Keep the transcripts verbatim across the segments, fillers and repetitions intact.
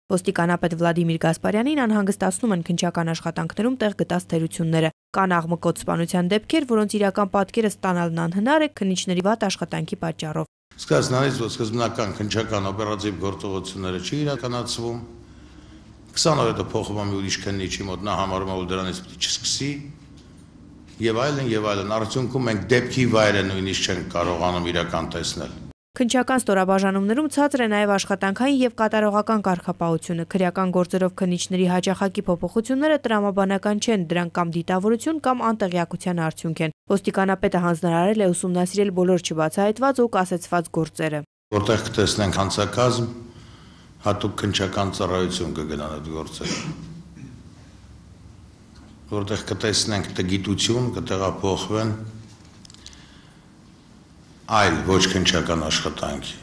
Ոստիկանապետ Վլադիմիր Գասպարյանին անհանգստացնում են քննչական աշխատանքներում տեղ գտած թերությունները։ Կան աղմկոտ սպանության դեպքեր, որոնց իրական պատկերը ստանալն անհնար է քննիչների վատ աշխատանքի պատճառով։ Սկզբնից որ սկզբնական քննչական օպերատիվ գործողությունները չի իրականացվում, քսան օր հետո փոխվում է ուրիշ քննիչի մոտ, նա համարում է, որ դրանից պետք է չսկսի, եւ այլն եւ այլն։ Արդյունքում մենք դեպքի վայրը նույնիսկ չենք կարողանում իրական տեսնել։ Քննչական ստորաբաժանումներում ցածր է նաև աշխատանքային եւ կատարողական կարգապահությունը։ Քրեական գործերով քննիչների հաճախակի փոփոխությունները տրամաբանական չեն, դրանք կամ դիտավորություն կամ անտեղյակության արդյունք են։ Ոստիկանապետը հանձնարարել է ուսումնասիրել բոլոր չբացահայտված ու կասեցված գործերը։ Որտեղ կտեսնենք հանցակազմ, հատուկ քննչական ծառայություն կգնան այդ գործերը։ Որտեղ կտեսնենք տգիտություն, կտեղափոխվեն այլ ոչ քննչական աշխատանքի։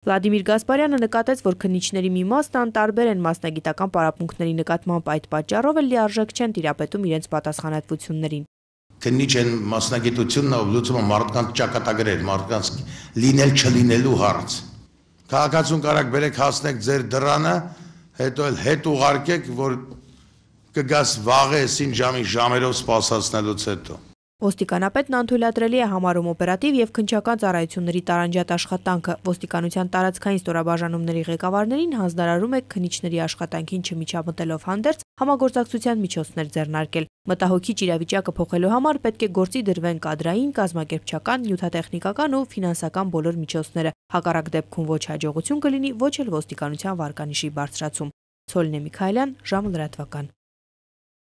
Վլադիմիր Գասպարյանը նկատեց, որ քննիչների մի մասն անտարբեր են մասնագիտական պարապմունքների նկատմամբ, այդ պատճառով էլ լիարժեք չեն տիրապետում իրենց պատասխանատվություններին։ Քննիչ են մասնագիտությունն ով լուծում է մարդկանց ճակատագրեր, մարդկանց լինել չլինելու հարց։ Քաղաքացուն կարակ բերեք հասնեք ձեր դռանը, հետո էլ հետ ուղարկեք, որ կգաս վաղեսին ժամի ժամերով սպասացնելուց հետո։ Ոստիկանապետն անթույլատրելի է համարում օպերատիվ եւ քննչական ծառայությունների տարանջատ աշխատանքը։ Ոստիկանության տարածքային ստորաբաժանումների ղեկավարներին հանձնարարում է քննիչների աշխատանքին չմիջամտելով հանդերձ համագործակցության միջոցներ ձեռնարկել։ Մտահոգիչ իրավիճակը փոխելու համար պետք է գործի դրվեն կադրային, կազմակերպչական, նյութատեխնիկական ու ֆինանսական բոլոր միջոցները։ Հակառակ դեպքում ոչ հաջողություն կլինի, ոչ էլ ոստիկանության վարկանիշի բարձրացում։ Ցոլնե Միքայելյան, ժամը լրատվական։